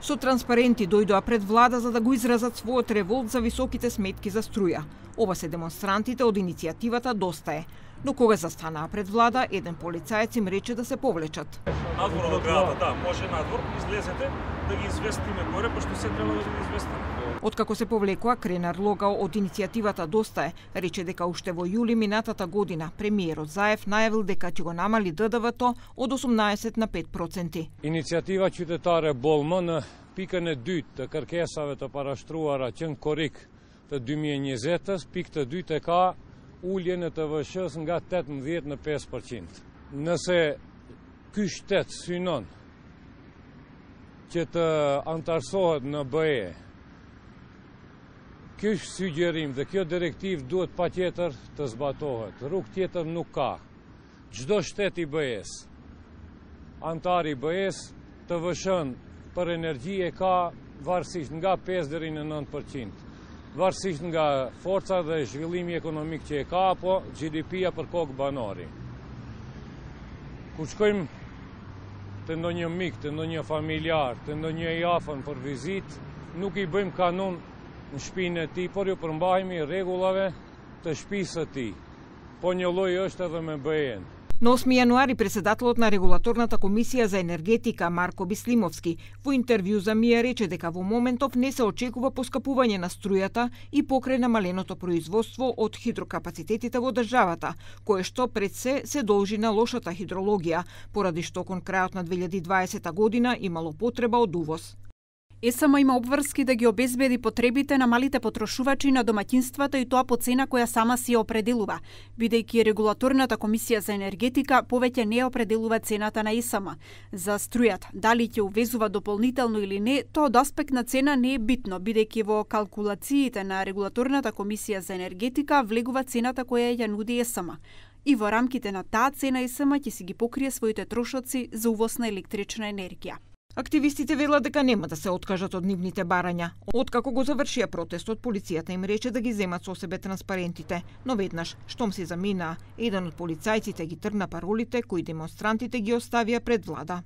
Со транспаренти дојдоа пред влада за да го изразат својот револт за високите сметки за струја. Ова се демонстрантите од иницијативата Доста е. Но кога застанаа пред влада, еден полицаец им рече да се повлечат. Надвор од градот, да, може надвор, излезете да ги известиме горе, пошто се треба да ги известиме. Откако се повлекоа, Кренар Логал од иницијативата Доста е рече дека уште во јули минатата година премиерот Заев најавил дека ќе го намали ДДВ-то од 18 на 5%. Иницијатива qytetare Bollmë në pikën e dytë të kërkesave të parashtruara që në korrik të 2020-s, pikë të dytë e ka ulje në TVSH-s nga 18 në 5%. Nëse ky shtet synon që të antarësohet në BE, ky sugjerim dhe kjo direktiv duhet patjetër të zbatohet. Rrugë tjetër nuk ka. Çdo shtet i BE-s, antari i BE-s, TVSH-n për energji e ka varësisht nga 5 deri në 9%. Varësisht nga forca dhe zhvillimi ekonomik që e ka, apo GDP-ja për kokë banari. Kur shkojmë të ndonjë mik, të ndonjë familjar, të ndonjë i afër për vizitë, nuk i bëjmë kanun në shtëpinë e tij, por ju përmbahemi rregullave të shtëpisë së tij. Po një lloj është edhe me BE-n. На 8 јануари председателот на Регулаторната комисија за енергетика Марко Бислимовски во интервју за МИА рече дека во моментов не се очекува поскапување на струјата и покрај намаленото производство од хидрокапацитетите во државата, кое што пред се должи на лошата хидрологија, поради што кон крајот на 2020 година имало потреба од увоз. ЕСМ има обврски да ги обезбеди потребите на малите потрошувачи на домаќинствата и тоа по цена која сама си ја определува, бидејќи Регулаторната комисија за енергетика повеќе не определува цената на ЕСМ. За струјата, дали ќе увезува дополнително или не, тоа од аспект на цена не е битно, бидејќи во калкулациите на Регулаторната комисија за енергетика влегува цената која ја нуди ЕСМ. И во рамките на таа цена ЕСМ ќе си ги покрие своите трошоци за увоз на електрична енергија. Активистите велат дека нема да се откажат од нивните барања. Откако го завршија протестот, полицијата им рече да ги земат со себе транспарентите, но веднаш, штом се заминаа, еден од полицајците ги тргна паролите кои демонстрантите ги оставија пред влада.